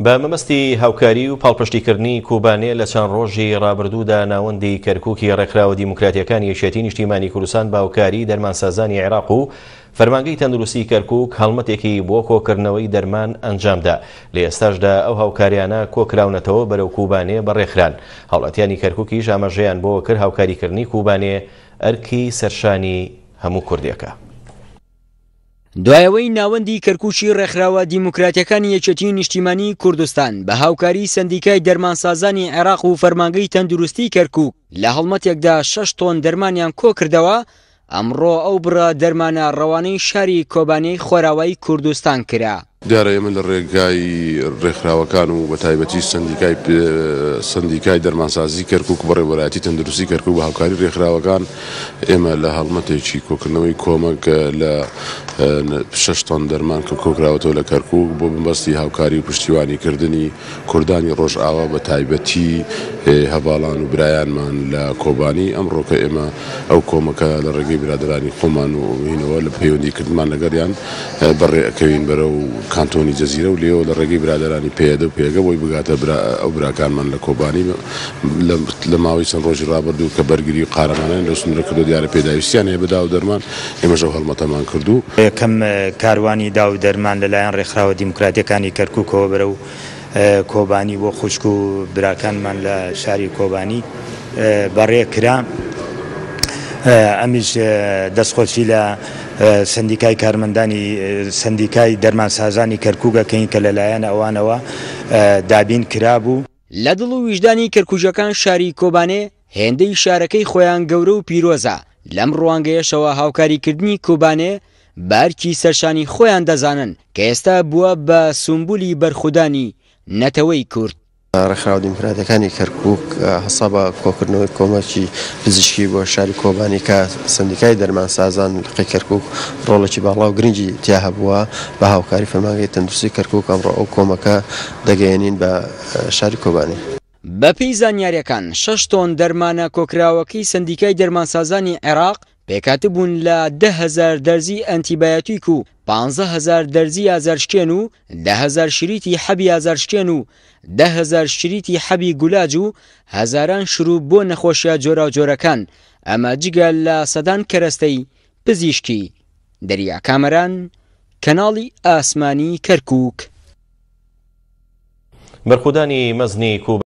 بە مەبەستی هاوکاری و پاڵپشتیکردنی کوبانێ لە چەند ڕۆژی ڕابردوودا ناوەندی کەرکوکی ڕێکخراوە دیموکراتیەکانی یەکێتی نیشتیمانی کوردستان بە هاوکاری دەرمانسازانی عێراق و فەرمانگەی تەندروستی کەرکوک هەڵمەتێکی بۆ کۆکردنەوەی دەرمان ئەنجامدا لە ئێستاشدا ئەو هاوکاریانە کۆکراونەتەوە بەرەو کوبانێ بەڕێخران هاوڵاتیانی کەرکوکیش ئاماژەیان بۆ کرد هاوکاریکردنی کوبانێ ئەرکی سەرشانی هەموو کوردێکە. دوای ئەوەی ناوەندی کەرکوکی ڕێکخراوە دیموکراتیەکانی یەکێتی نیشتیمانی کوردستان بە هاوکاری سەندیکای دەرمانسازانی عێراق و فەرمانگەی تەندروستی کەرکوک لە هەڵمەتێکدا شەش تۆن دەرمانیان کۆکردەوە، ئەمڕۆ ئەو بڕە دەرمانە ڕەوانەی شاری کۆبانێی خۆراوای کوردستان کرا. دیارە ئێمە لە ڕێگای ڕێکخراوەکان و بە تایبەتی سەندیکای سەندیکای دەرمانسازی کەرکوک و بەڕێوەبەرایەتی تەندروستی کەرکوک بە هاوکاری ڕێکخراوەکان ئێمە لە هەڵمەتێکی کۆکردنەوەی کۆمەک لە شەش تۆن دەرمان کە کۆکراوەتەوە لە کەرکوک بۆ مەبەستی هاوکاری و پشتیوانی کردنی کوردانی ڕۆژئاوا بە تایبەتی هەڤاڵان و برایانمان لە کۆبانی، ئەمڕۆکە ئێمە ئەو کۆمەکە لە ڕێگەی برادەرانی خۆمان و هینەوە لە پەیوەندی کردنمان لەگەڵیان بەڕێ ئەکەوین بەرەو کانتۆنی جەزیرە و لێوە لە ڕێگەی برادەرانی پەیەدە و پەیەگە بۆی بگاتە برا ئەو براکانمان لە کۆبانی لە لە ماوەی چەند ڕۆژی ڕابردوو کە بەرگری و قارەمانانیان لەو سنوورە کردووە دیارە پێداویستیان هەیە بە داو و دەرمان ئێمەش ئەو هەڵمەتەمان کردو. یەکەم کاروانی داو و دەرمان لەلایەن ڕێکخراوە دیموکراتییەکانی کەرکووکەوە بەرەو کۆبانی بۆ خوشک و براکانمان لە شاری کۆبانی بەڕێ کرا. ئەمیش دەستخۆشی لە سەندیکای کارمەندانی سەندیکای دەرمانسازانی کەرکووک ئەکەین کە لەلایەن ئەوانەوە دابین کرابوو. لە دڵ و ویژدانی کەرکوکیەکان شاری کۆبانێ هێندەی شارەکەی خۆیان گەورە و پیرۆزە، لەم ڕوانگەیەشەوە هاوکاریکردنی کۆبانێ بە ئەرکی سەرشانی خۆیان دەزانن کە ئێستا بووە بە سومبولی بەرخودانی نەتەوەی کورد. ڕێکخراوە دیموکراتیەکانی کەرکوک هەستا بە کۆکردنەوەی کۆمەکی پزیشکی بۆ شاری کۆبانی کە سەندیکای دەرمانسازان لقی کەرکوک ڕۆڵێکی باڵا و گرنگی تیا هەبووە بە هاوکاری فەرمانگەی تەندروستی کەرکوک ئەمڕۆ ئەو کۆمەکە دەگەیەنین بە شاری کۆبانی. بەپێی زانیارییەکان، شەش تۆن دەرمانە کۆکراوەکەی سەندیکای دەرمانسازانی عێراق پێکهاتبوون لە 10,000 دەرزی ئەنتیبایۆتیک و 15,000 دەرزی ئازارشکێن و 10,000 شریتی حەبی ئازارشکێن و 10,000 شریتی حەبی گولاج و هەزاران شروب بۆ نەخۆشیە جۆراوجۆرەکان، ئەمە جگە لە سەدان کەرەستەی پزیشکی. دەریا کامەران، کەناڵی ئاسمانی کەرکوک. بەرخودانی مەزنی کوبا.